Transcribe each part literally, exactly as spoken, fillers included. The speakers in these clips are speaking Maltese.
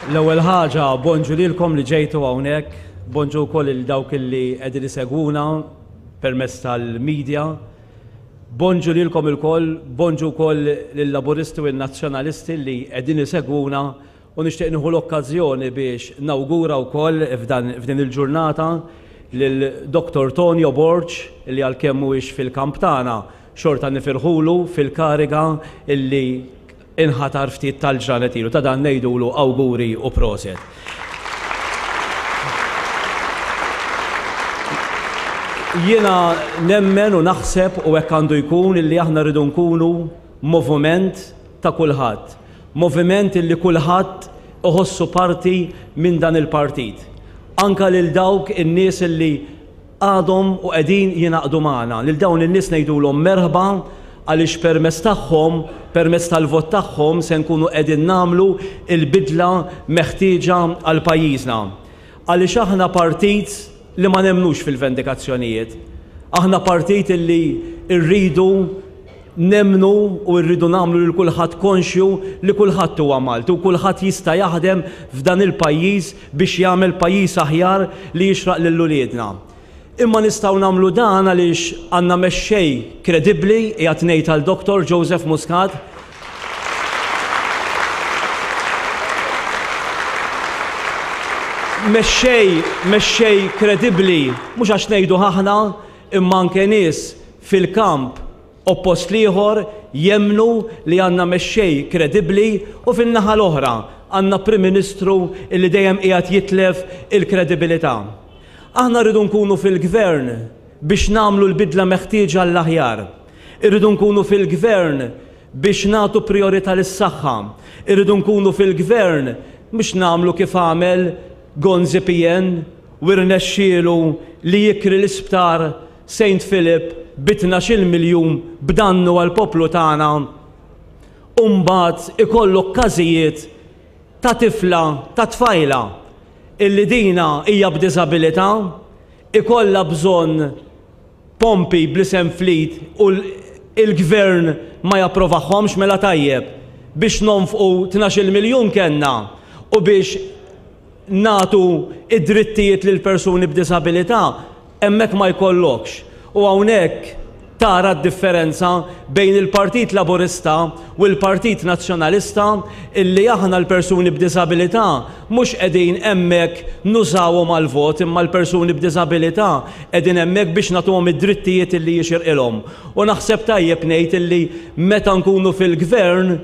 L-ewwel ħaġa, bonġu lilkom li ġejtu hawnhekk, bonġu wkoll lil dawk li qegħdin isegwuna permezz tal-media. Bonġu lilkom ilkoll, bonġu wkoll lill-Laburisti u n-Nazzjonalisti li qegħdin isegwuna u nixtieq nieħu l-okkażjoni biex nawgura wkoll f'din il-ġurnata lil Doktor Tonio Borg li għalkemm mhuwiex fil-kamp tagħna xorta nifirħulu fil-kariga illi inħatar ftit tal-ġranet ilu. Ta' dan ngħidulu awguri u proset. Jiena nemmen u naħseb u hekk għandu jkun illi aħna rridu nkunu moviment ta' kulħadd. Moviment illi kulħadd iħossu parti minn dan il-partit. Anka lil dawk in-nies illi għadhom u qegħdin jingħaqdu magħna. Lil dawn in-nies ngħidulhom merħba għaliex permezz tagħhom, permezz tal-vot tagħhom se nkunu qegħdin nagħmlu il-bidla meħtieġa għal pajjiżna. Għaliex aħna partit li ma nemnux fil-vendikazzjonijiet. Aħna partit illi rridu nemnu u rridu nagħmlu lil kulħadd konxju li kulħadd huwa Malti u kulħadd jista' jaħdem f'dan il-pajjiż biex jagħmel pajjiż aħjar li jixraq lil uliedna. Imma nistgħu nagħmlu dan għaliex għandna mexxej kredibbli qiegħed ngħid għal Doktor Joseph Muscat. Mexxej, mexxej kredibbli mhux għax ngħidu aħna imma anke nies fil-kamp oppost l-ieħor jemmnu li għandna mexxej kredibbli u fin-naħa l-oħra għandna Prim Ministru illi dejjem qiegħed jitlef il-kredibilità. Aħna rridu nkunu fil-gvern biex nagħmlu l-bidla meħtieġa għall-aħjar. Irridu nkunu fil-gvern biex nagħtu priorità lis-saħħa. Irridu nkunu fil-gvern biex nagħmlu kif għamel Gonzi P N u rnexxielu li jikri l-isptar Saint Philip bi tnax-il miljun b'dannu għall-poplu tagħna. U mbagħad ikollok każijiet ta' tifla, ta' tfajla illi dina hija b'diżabilità, ikollha bżonn pompi bl-isem flit u l-gvern ma japprovahomx mela tajjeb biex nonfqu tnax-il miljun kellna u biex nagħtu id-drittijiet lil persuni b'diżabilità hemmhekk ma jkollokx. U hawnhekk tara d-differenza bejn il-Partit Laburista u l-Partit Nazzjonalista illi aħna l-persuni b'diżabilità mhux qegħdin hemmhekk nużawhom għall-vot imma l-persuni b'diżabilità qegħdin hemmhekk biex nagħtuhom id-drittijiet illi jixirqilhom. U naħseb tajjeb ngħid illi meta nkunu fil-gvern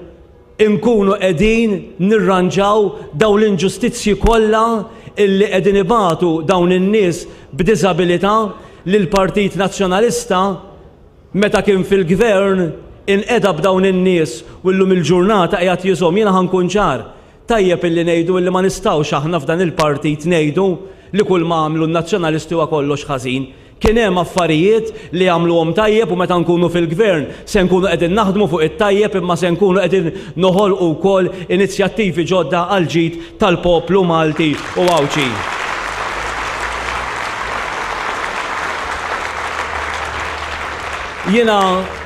inkunu qegħdin nirranġaw dawn l-inġustizzji kollha illi qegħdin ibatu dawn in-nies b'diżabilità li l-Partit Nazzjonalista meta kien fil-gvern inqeda b'dawn in-nies u llum il-ġurnata qiegħed jiżhom. Jiena ħankun ċar, tajjeb illi ngħidu illi ma nistgħux aħna f'dan il-partit ngħidu li kull ma għamlu n-Nazzjonalisti huwa kollox ħażin. Kien hemm affarijiet li għamluhom tajjeb u meta nkunu fil-gvern se nkunu qegħdin naħdmu fuq it-tajjeb imma se nkunu qegħdin noħolqu wkoll inizjattivi ġodda għal ġid tal-poplu Malti u Għawdxi. Jiena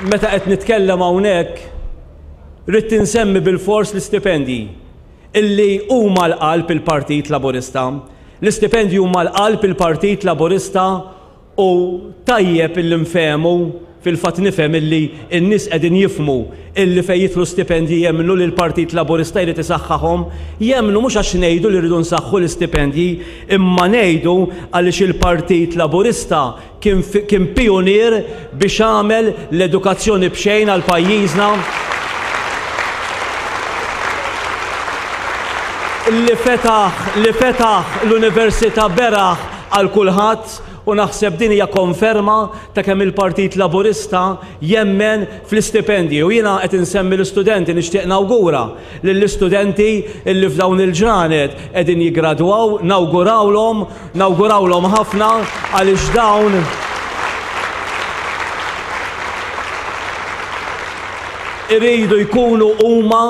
meta qed nitkellem hawnhekk rrid insemmi bil-fors l-istipendji illi huma l-qalb il-Partit Laburista. L-istipendji huma l-qalb il-Partit Laburista u tajjeb illi nfehmu, fil-fatt nifhem illi n-nies qegħdin jifhmu illi fejn jidħlu stipendji jemmnu li l-Partit Laburista jrid isaħħahom, jemmnu mhux għax ngħidu li rridu nsaħħu l-istipendji, imma ngħidu għaliex il-Partit Laburista kien fi-, kien pionier biex għamel l-edukazzjoni b'xejn għal pajjiżna. Li fetaħ, li fetaħ l-Università beraħ għal kulħadd u naħseb din hija konferma ta' kemm il-Partit Laburista jemmen fl-istipendji. U jiena qed insemmi l-istudenti, nixtieq nawgura lill-istudenti illi f'dawn il-ġranet qegħdin jiggradwaw, nawgurawlhom, nawgurawlhom ħafna għaliex dawn iridu jkunu huma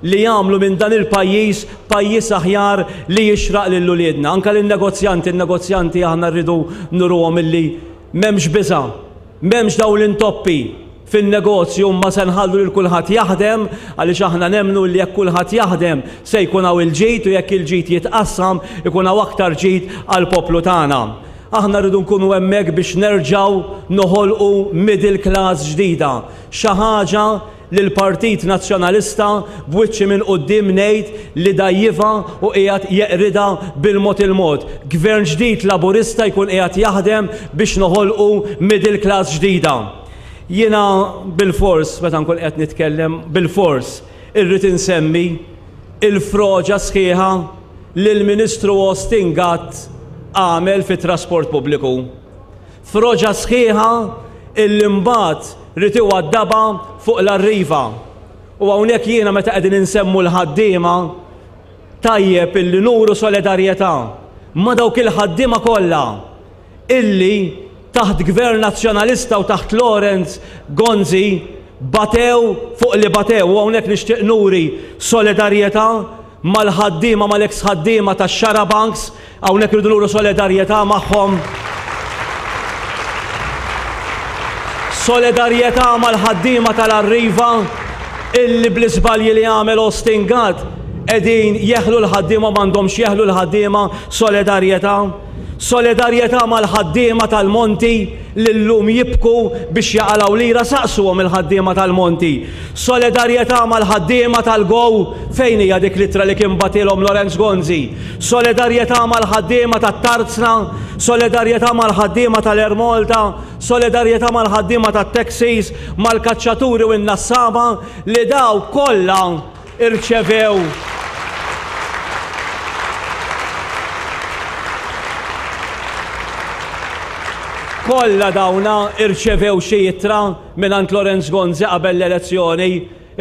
li jagħmlu minn dan il-pajjiż pajjiż aħjar li jixraq lil uliedna. Anke lin-negozjanti, in-negozjanti aħna rridu nuruhom illi m'hemmx biża', m'hemmx dawn l-intoppi. fin-negozju, ma se nħallu lil kulħadd jaħdem, għaliex aħna nemmnu li jekk kulħadd jaħdem se jkun hawn il-ġid, u jekk il-ġid jitqassam ikun hawn aktar ġid għall-poplu tagħna. Aħna rridu nkunu hemmhekk biex nerġgħu noħolqu middle class ġdida, xi ħaġa li l-Partit Nazzjonalista b'wiċċi minn quddiem ngħid li dajjiva u qiegħed jeqrida bil-mod il-mod. Gvern ġdid Laburista jkun qiegħed jaħdem biex noħolqu middle class ġdida. Jiena bil-fors, meta nkun qed nitkellem, bil-fors irrid insemmi il-froġa sħiħa li l-Ministru Austin Gatt għamel fit-trasport pubbliku. Froġa sħiħa illi mbagħad rid iwaddabha fuq l-Arriva. U hawnhekk jiena meta qegħdin insemmu l-ħaddiema, tajjeb illi nuru solidarjetà ma' dawk il-ħaddiema kollha illi taħt Gvern Nazzjonalista u taħt Lawrence Gonzi batew fuq li batew. U hawnhekk nixtieq nuri solidarjetà mal-ħaddiema, mal-ex ħaddiema tax-Xarabanks, hawnhekk irridu nuru solidarjetà magħhom. Solidarjetà mal-ħaddiema tal-Arriva illi bl-iżbalji li għamel Austin Gatt qegħdin jeħlu l-ħaddiema, m'għandhomx jeħlu l-ħaddiema. Solidarjetà. Solidarjetà mal-ħaddiema tal-Monti li llum jibku biex jaqalgħu lira, saqsuhom il-ħaddiema tal-Monti. Solidarjetà mal-ħaddiema tal-Go, fejn hija dik l-ittra li kien batilhom Lawrence Gonzi. Solidarjetà mal-ħaddiema tat-Tarzna, solidarjetà mal-ħaddiema tal-Air Malta, solidarjetà mal-ħaddiema tat-taxis, mal-kaċċaturi u n-nassaba li daw kollha irċevew kollha dawna irċevew xi ittra mingħand Lawrence Gonzi qabel l-elezzjoni,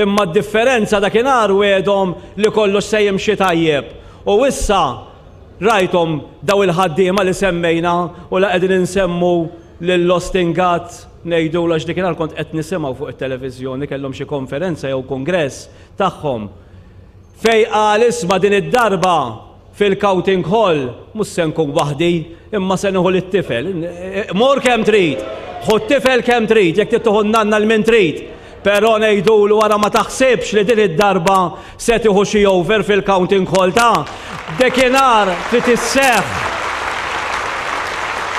imma d-differenza dakinhar wedhom li kollox se jimxi tajjeb. U issa rajthom daw il-ħaddiema li semmejna u la qegħdin insemmu lil Austin Gatt ngħidu għax dakinhar kont qed nisimgħu fuq it-televiżjoni kellhom xi konferenza jew kongress tagħhom fej qal isma' din id-darba fil-counting hall mhux se nkun waħdi imma se nieħu lit-tifel. Mur kemm trid, ħu t-tifel kemm trid, jekk trid tieħu n-nanna l min trid. Però ngħidulu wara ma taħsibx li din id-darba se tieħu xi over fil-counting hall ta' dakinhar trid isseħħ.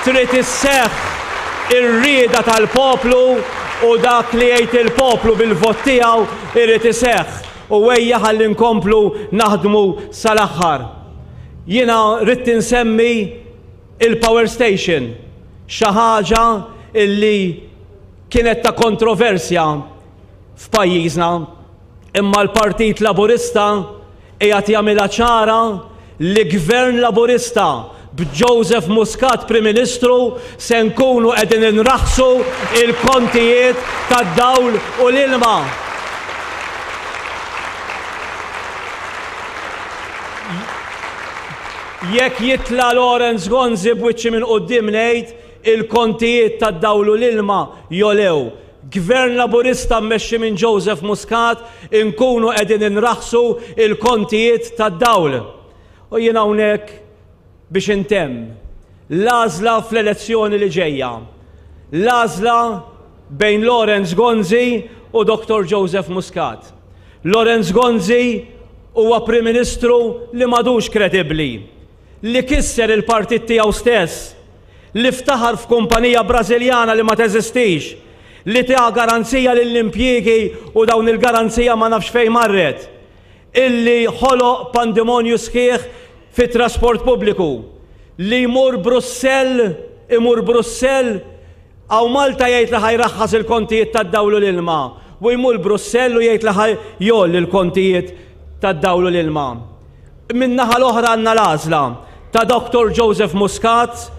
Trid isseħħ ir-rieda tal-poplu u dak li jgħid il-poplu bil-vot tiegħu irid iseħħ. U ejja ħalli nkomplu naħdmu sal-aħħar. Jiena rrid insemmi il-power station, xi ħaġa illi kienet ta' kontroversja f'pajjiżna, imma l-Partit Laburista qiegħed jagħmilha ċara li Gvern Laburista b'Joseph Muscat Prim Ministru se nkunu qegħdin inraħsu il-kontijiet tad-dawl u l-ilma. Jekk jitla Lawrence Gonzi b'wiċċi minn quddiem ngħid il-kontijiet tad-dawl u l-ilma jolew. Gvern Laburista mmexxi minn Joseph Muscat inkunu qegħdin inraħsu il-kontijiet tad-dawl. U jien hawnhekk biex intemm l-għażla fl-elezzjoni li ġejja. L-għażla bejn Lawrence Gonzi u Doktor Joseph Muscat. Lawrence Gonzi huwa Prim Ministru li m'għadux kredibbli, li kisser il-partit tiegħu stess, li ftaħar f'kumpanija Brażiljana li ma teżistix, li ta garanzija lill-impjiegi u dawn il-garanzija ma nafx fejn marret, illi ħoloq pandemonju sħiħ fit-trasport pubbliku, li jmur Brussell, imur Brussell, għaw Malta jgħid li ħajraħħas il-kontijiet tad-dawl u l-ilma, u jmur Brussell u jgħid li ħajjoll il-kontijiet tad-dawl u l-ilma. Min-naħa l-oħra għandna l-għażla ta' Doktor Joseph Muscat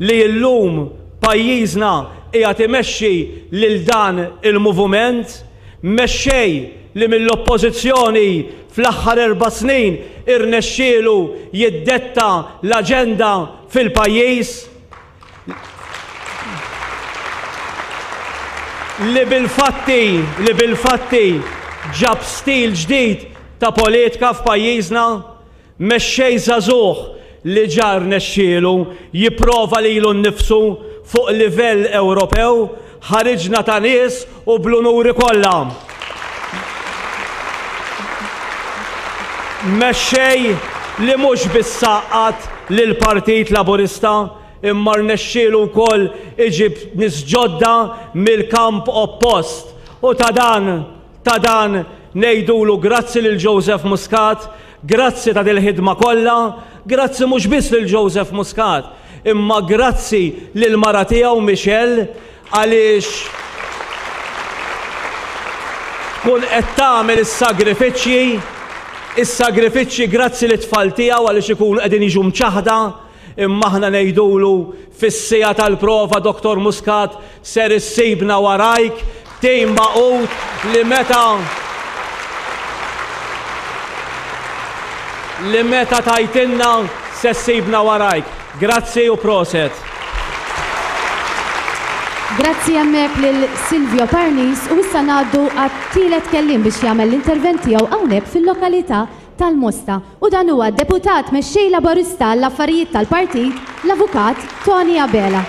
li llum pajjiżna qiegħed imexxi lil dan il-moviment, mexxej li mill-oppożizzjoni fl-aħħar erba' snin irnexxielu jiddetta l-aġenda fil-pajjiż, li bil-fatti, li bil-fatti ġab stil ġdid ta' politika f'pajjiżna, mexxej żagħżugħ li ġar nexxielu jipprova lilu nnifsu fuq livell Ewropew Ħariġna ta' nies u bl-unuri kollha. Mexxej li mhux biss għaqqad lill-Partit Laburista imma rnexxielu wkoll iġib nies ġodda mill-kamp oppost. U ta' dan, ta' dan ngħidulu grazzi lil Joseph Muscat, grazzi ta' dil-ħidma kollha, grazzi mhux biss lil Joseph Muscat, imma grazzi lil mara tiegħu Michelle, għaliex tkun qed tagħmel is-sagrifiċċji, is-sagrifiċċji grazzi lit-tfal tiegħu għaliex ikunu qegħdin jiġu mċaħda, imma aħna ngħidulu fis-siegħa tal-prova Doktor Muscat ser issibna warajk, tim maqut li meta li meta tajtinna se ssibna warajk. Grazzi u proset. Grazzi hemmhekk lil Silvio Parnis u issa ngħaddu għat-tielet kelliem biex jagħmel l-intervent tiegħu hawnhekk fil-lokalità tal-Mosta. U dan huwa d-deputat mexxej Laburista għall-affarijiet tal-partit, l-Avukat Tony Abela.